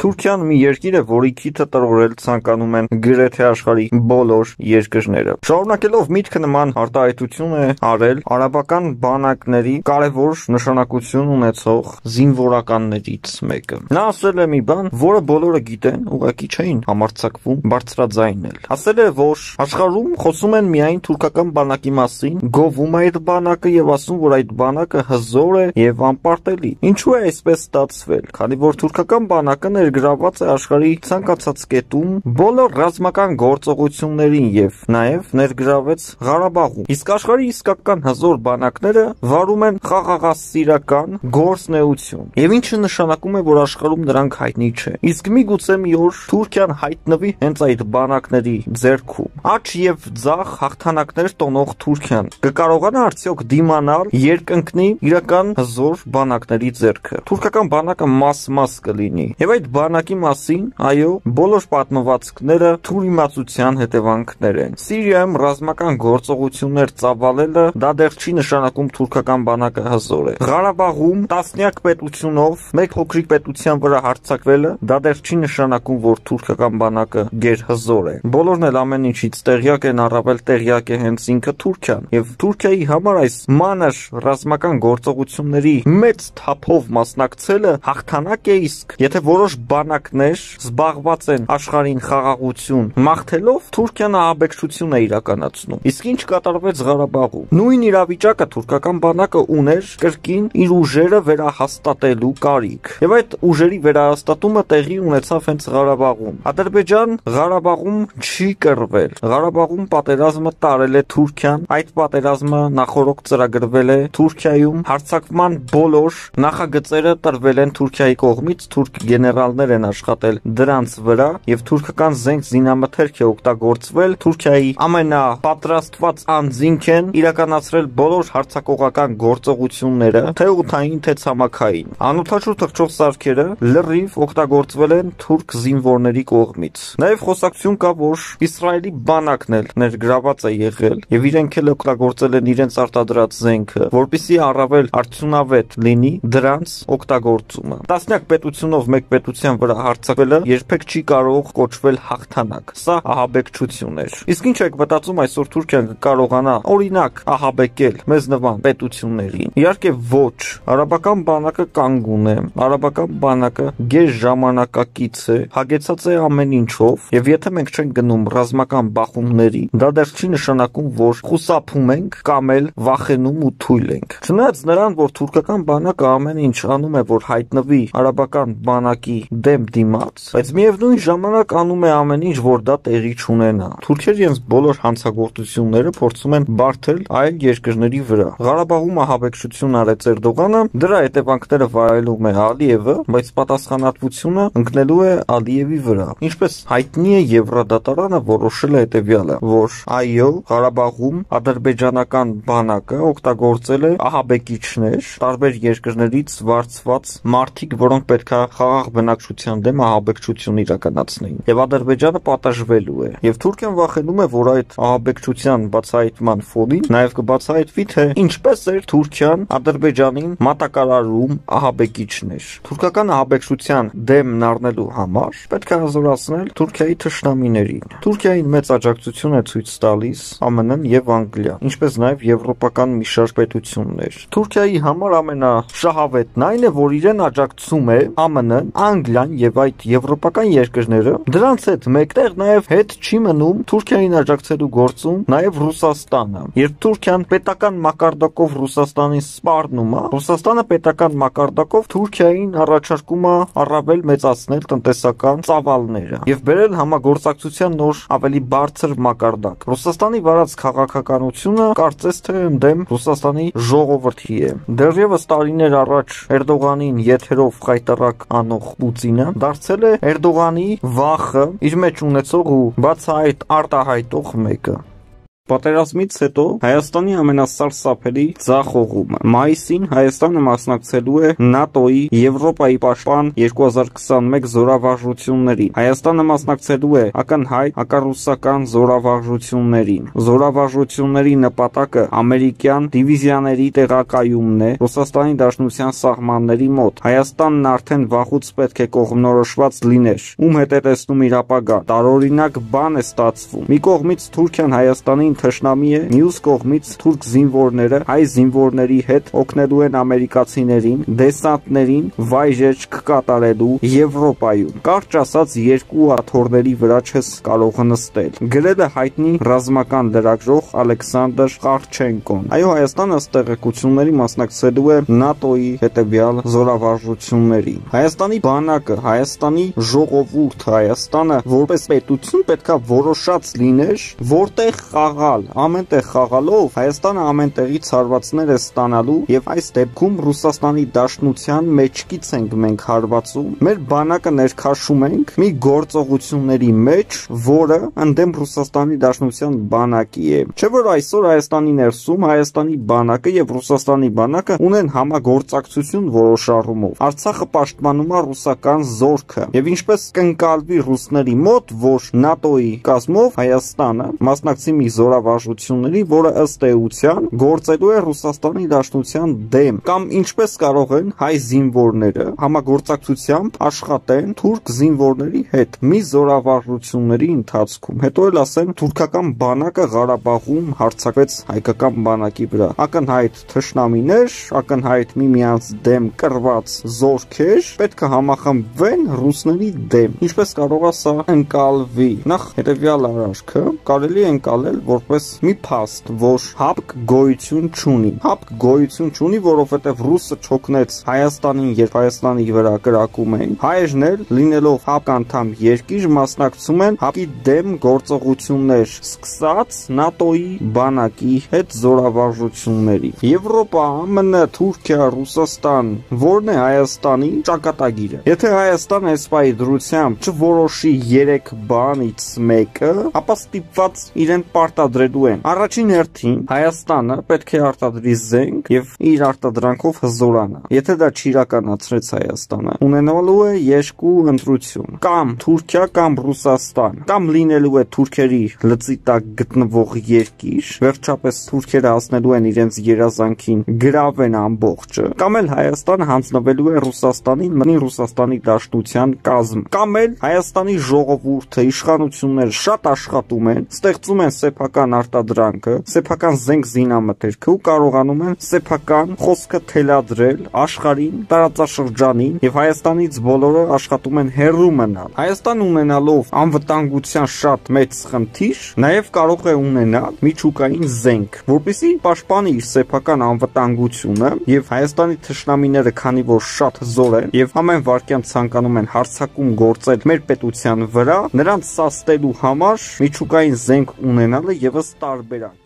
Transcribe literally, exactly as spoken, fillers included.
Թուրքիան մի երկիր է, որի քիթը տրորել ցանկանում են գրեթե աշխարհի բոլոր երկրները։ Շարունակելով միտքը նման արտահայտություն է արել արաբական բանակների կարևոր նշանակություն ունեցող զինվորականներից մեկը։ Նա ասել է մի բան, որը բոլորը գիտեն, ուղղակի չէին համարձակվում բարձրաձայնել։ Ասել է, որ աշխարհում խոսում են միայն թուրքական բանակի մասին, գովում է այդ բանակը եւ ասում, որ այդ բանակը հզոր է եւ անպարտելի։ Ինչու է այսպես ստացվել, քանի որ թուրքական բանակը ներգրաված է աշխարհի ցանկացած կետում բոլոր ռազմական գործողություններին եւ նաեւ ներգրավեց Ղարաբաղում։ Իսկ աշխարհի իսկական հզոր բանակները վարում են խաղաղասիրական գործնեություն։ Եվ ինչը նշանակում է, որ աշխարհում նրանք հայտնի չէ։ Իսկ միգուցե մի օր Թուրքիան հայտնվի հենց այդ բանակների ձեռքում։ Աճ եւ ձախ հաղթանակներ տոնող Թուրքիան կկարողանա արդյոք դիմանալ երկնքնի իրական հզոր բանակների ձեռքը։ Թուրքական բանակը մաս-մաս կլինի։ Եվ այդ բանակի մասին, այո, բոլոր պատմվածքները թուրիմացության հետևանքներ են։ Սիրիայում ռազմական գործողություններ ծավալելը դա դեռ չի նշանակում թուրքական բանակը հզոր է։ Ղարաբաղում տասնյակ պետությունով մեկ փոքրիկ պետության վրա հարձակվելը դա դեռ չի նշանակում, որ թուրքական բանակը գերհզոր է։ Բոլորն էլ ամեն ինչից տեղյակ են, առավել տեղյակ է հենց ինքը Թուրքիան։ Եվ Թուրքիայի համար այս մանր ռազմական գործողությունների մեծ թափով մասնակցելը հաղթանակ է, իսկ եթե որոշ բանակներ զբաղված են աշխարհին խաղաղություն մաղթելով, Թուրքիան ահաբեկչություն է իրականացնում։ Իսկ ինչ կատարվեց Ղարաբաղում։ Նույն իրավիճակը թուրքական բանակը ուներ կրկին իր ուժերը վերահաստատելու կարիք։ Եվ այդ ուժերի վերահաստատումը տեղի ունեցավ հենց Ղարաբաղում։ Ադրբեջան Ղարաբաղում չի կռվել։ Ղարաբաղում պատերազմը տարել է Թուրքիան, այդ պատերազմը նախորոք ծրագրվել է Թուրքիայում, հարձակման բոլոր նախագծերը տրվել են Թուրքիայի կողմից, թուրք գեներալներ են աշխատել դրանց վրա եւ թուրքական զենք զինամթերք է օգտագործվել, Թուրքիայի ամենապատրաստված անձինք են իրականացրել բոլոր հարձակողական գործողությունները, թե օդային, թե ցամաքային։ Անօդաչու թռչող սարքերը լրիվ օգտագործվել են թուրք զինվորների կողմից։ Նաեւ խոսակցություն կա, որ Իսրայելի բանակն էլ ներգրաված է եղել եւ իրենք էլ օգտագործել են իրենց արտադրած զենքը, որպեսզի առավել արդյունավետ լինի դրանց օգտագործումը։ Տասնյակ պետությունով մեկ պետության վրա հարձակվելը երբեք չի կարող կոչվել հաղթանակ։ Սա ահաբեկչություն էր։ Իսկ ինչ եք մտածում այսօր Թուրքիան կկարողանա օրինակ ահաբեկել մեզ նման պետություններին։ Իհարկե ոչ։ Արաբական բանակը կանգուն է, արաբական բանակը գեր ժամանակակից է, հագեցած է ամեն ինչով, եւ եթե մենք չենք գնում ռազմական բախումների, դա դեռ չի նշանակում, որ խուսափում ենք կամ էլ վախենում ու թույլ ենք։ Չնայած նրան, որ թուրքական բանակը ամեն ինչ անում է, որ հայտնվի արաբական բանակի դեմ դիմաց, բայց միևնույն ժամանակ անում է ամեն ինչ, որ դա տեղի չունենա։ Թուրքերը իրենց բոլոր հանցագործությունները փորձում են բարթել այլ երկրների վրա։ Ղարաբաղում ահաբեկչություն արեց Էրդողանը, դրա հետևանքները վայելում է Ալիևը, բայց պատասխանատվությունը ընկնելու է Ալիևի վրա։ Ինչպես հայտնի է, Եվրադատարանը որոշել է հետևյալը, որ այո, Ղարաբաղում ադրբեջանական բանակը օգտագործել է ահաբեկիչներ, տարբեր երկրներից վարձված մարդիկ, որոնք պետք է խաղաղ բնակչության դեմ ահաբեկչություն իրականացնեին։ Եվ Ադրբեջանը պատժվելու է։ Եվ Թուրքիան վախենում է, որ այդ ահաբեկչության բացահայտման ֆոնին նաև կբացահայտվի, թե ինչպես էր Թուրքիան Ադրբեջանին մատակարարում ահաբեկիչներ։ Թուրքական ահաբեկչության դեմն առնելու համար պետք է հզորացնել Թուրքիայի թշնամիներին։ Թուրքիային մեծ աջակցություն է ցույց տալիս ԱՄՆ-ն եւ Անգլիան, ինչպես նաեւ եվրոպական մի շարք պետություններ։ Թուրքիայի համար ամենաշահավետն այն է, որ իրեն աջակցում է ԱՄՆ-ն, Անգլիան եւ այդ եվրոպական երկրները։ Դրանց հետ մեկտեղ նաեւ հետ չի մնում Թուրքիային աջակցելու գործում նաեւ Ռուսաստանը։ Երբ Թուրքիան պետական մակարդակով Ռուսաստանին սպառնում է, Ռուսաստանը պետական մակարդակով Թուրքիային առաջարկում է առավել մեծացնել տնտեսական ծավալները եւ բերել համագործակցության նոր ավելի բարձր մակարդակ։ Ռուսաստանի վարած քաղաքականությունը կարծես թե ընդդեմ Ռուսաստանի ժողովրդի է։ Դեռևս տարիներ առաջ Էրդողանին եթերով խայտարակ անող Պուտինը դարձել է Էրդողանի վախը իր մեջ ունեցող ու բացահայտ արտահայտող մեկը։ Պատերազմից հետո Հայաստանի ամենասարսափելի ձախողումը։ Մայիսին Հայաստանը մասնակցելու է ՆԱՏՕ-ի Եվրոպայի պաշտպան երկու հազար քսանմեկ զորավարժություններին։ Հայաստանը մասնակցելու է ակնհայտ հակառուսական զորավարժություններին։ Զորավարժությունների նպատակը ամերիկյան դիվիզիաների տեղակայումն է Ռուսաստանի Դաշնության սահմանների մոտ։ Հայաստանն արդեն վաղուց պետք է կողմնորոշված լիներ, ում հետ է տեսնում իր ապագան։ Տարօրինակ բան է ստացվում։ Մի կողմից Թուրքիան Հայաստանին թշնամի է, մյուս կողմից թուրք զինվորները հայ զինվորների հետ օգնելու են ամերիկացիներին դեսանտներին վայրեջք կատարելու Եվրոպայում։ Կարճ ասած, երկու աթոռների վրա չես կարող նստել։ Գրել է հայտնի ռազմական լրագրող Ալեքսանդր Խարչենկոն։ Այո, Հայաստանը ըստ տեղեկությունների մասնակցելու է ՆԱՏՕ-ի հետևյալ զորավարժություններին։ Հայաստանի բանակը, Հայաստանի ժողովուրդը, Հայաստանը որպես պետություն պետքա որոշած լիներ, որտեղ խաղալ։ Ամեն տեղ խաղալով Հայաստանը ամեն տեղից հարվածներ է ստանալու եւ այս դեպքում Ռուսաստանի Դաշնության մեջքից ենք մենք հարվածում։ Մեր բանակը ներքաշում ենք մի գործողությունների մեջ, որը ընդդեմ Ռուսաստանի Դաշնության բանակի է։ Չէ՞ որ այսօր Հայաստանի ներսում Հայաստանի բանակը եւ Ռուսաստանի բանակը ունեն համագործակցություն որոշ առումով։ Արցախը պաշտպանում է ռուսական զորքը եւ ինչպես կընկալվի ռուսների մոտ, որ ՆԱՏՕ-ի կազմով Հայաստանը մասնակցի մի զորավարժությունների, որը ըստ էության գործելու է Ռուսաստանի Դաշնության դեմ, կամ ինչպես կարող են հայ զինվորները համագործակցությամբ աշխատեն թուրք զինվորների հետ մի զորավարժությունների ընթացքում, հետո էլ ասեն թուրքական բանակը Ղարաբաղում հարձակվեց հայկական բանակի վրա։ Ակնհայտ թշնամիներ, ակնհայտ միմյանց դեմ կռված զորքեր պետք է համախմբվեն ռուսների դեմ։ Ինչպես կարող է սա ընկալվի։ Նախ հետևյալ արարքը կարելի է ընկալել որպես մի փաստ, որ հապկ գոյություն չունի։ Հապկ գոյություն չունի, որովհետև ռուսը չօգնեց Հայաստանին, երբ Հայաստանի վրա կրակում էին։ Հայերն էլ լինելով հապկ անդամ երկիր մասնակցում են հապկի դեմ գործողություններ, սկսած ՆԱՏՕ-ի բանակի հետ զորավարժությունների։ Եվրոպա, ԱՄՆ, Թուրքիա, Ռուսաստան, որն է Հայաստանի ճակատագիրը։ Եթե Հայաստանը այս պահի դրությամբ չորոշի երեք բանից մեկը, ապա ստիպված իրեն պարտադրելու են։ Առաջին հերթին Հայաստանը պետք է արտադրի զենք եւ իր արտադրանքով հզորանա։ Եթե դա չիրականացրեց Հայաստանը, ունենալու է երկու ընտրություն՝ կամ Թուրքիա կամ Ռուսաստան, կամ լինելու է թուրքերի լծի տակ գտնվող երկիր, վերջապես թուրքերը հասնելու են իրենց երազանքին գրավեն ամբողջը, կամ էլ Հայաստանը հանձնվելու է Ռուսաստանին, մնի Ռուսաստանի Դաշնության կազմ, կամ էլ Հայաստանի ժողովուրդը, իշխանությունները շատ աշխատում են, ստեղծում են սեփական արտադրանքը, սեփական զենք զինամթերքը ու կարողանում են սեփական խոսքը թելադրել աշխարհին, տարածաշրջանին եւ Հայաստանից բոլորը աշխատում են հեռու մնալ։ Հայաստանը ունենալով անվտանգության շատ մեծ խնդիր, նաեւ կարող է ունենալ միջուկային զենք, որպեսզի պաշտպանի իր սեփական անվտանգությունը եւ Հայաստանի թշնամիները, քանի որ շատ զոր են եւ ամեն վարքյան ցանկանում են հարձակում գործել մեր պետության վրա, նրանց սաստելու համար միջուկային զենք ունենալը եւս տարբերակ։